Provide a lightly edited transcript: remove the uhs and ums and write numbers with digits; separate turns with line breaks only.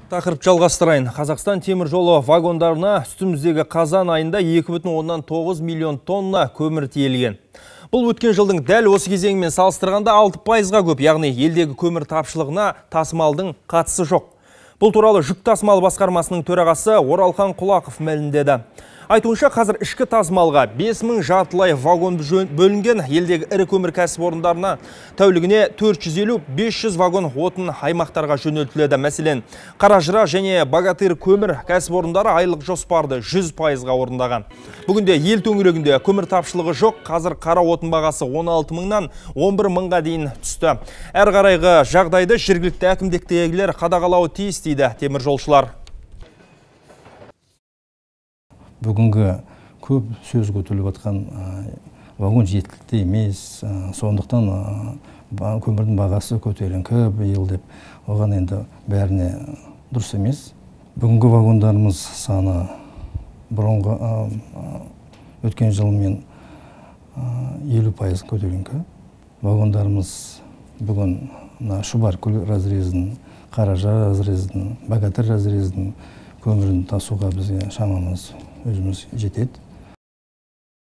Тақырып жалғастырайын. Қазақстан темір жолы вагондарына үстіміздегі қазан айында 2,9 миллион тонна көмір тиелген. Бұл өткен жылдың дәл осы кезеңімен салыстырғанда 6%-ға көп, яғни елдегі көмір тапшылығына тасымалдың қатысы жоқ. Бұл туралы жүк тасымалы басқармасының төрағасы Оралхан Құлақов мәлімдеді. Айтуынша, қазір ішкі тасымалға 5000 жартылай вагон бөлінген. Елдегі ірі көмір кәсіпорындарына тәулігіне 450-500 вагон отын аймақтарға жөнелтіледі. Мәселен, Қаражыра және Богатырь көмір кәсіпорындары айлық жоспарды 100%-ға орындаған. Бүгінде ел төңірегінде көмір тапшылығы жоқ. Қазір қара отын бағасы 16 мыңнан 11 мыңға дейін түсті. Әр қарайғы жағдайды жергілікті әкімдіктегілер қадағалауы тиіс дейді темір жолшылар.
Бүгінгі көп сөз көтеріліп жатқан вагон жеткілікті емес, сондықтан көмірдің бағасы көтеріңкі биыл деп, оған енді бәріне дұрыс емес. Бүгінгі вагондарымыз саны бұрынғы өткен жылмен 50% көтеріңкі. Вагондарымыз бүгін Шұбаркөл разрездің, Қаражыра разрездің, Богатырь разрездің көмірін тасуға бізге шамамыз өзіміз жетеді.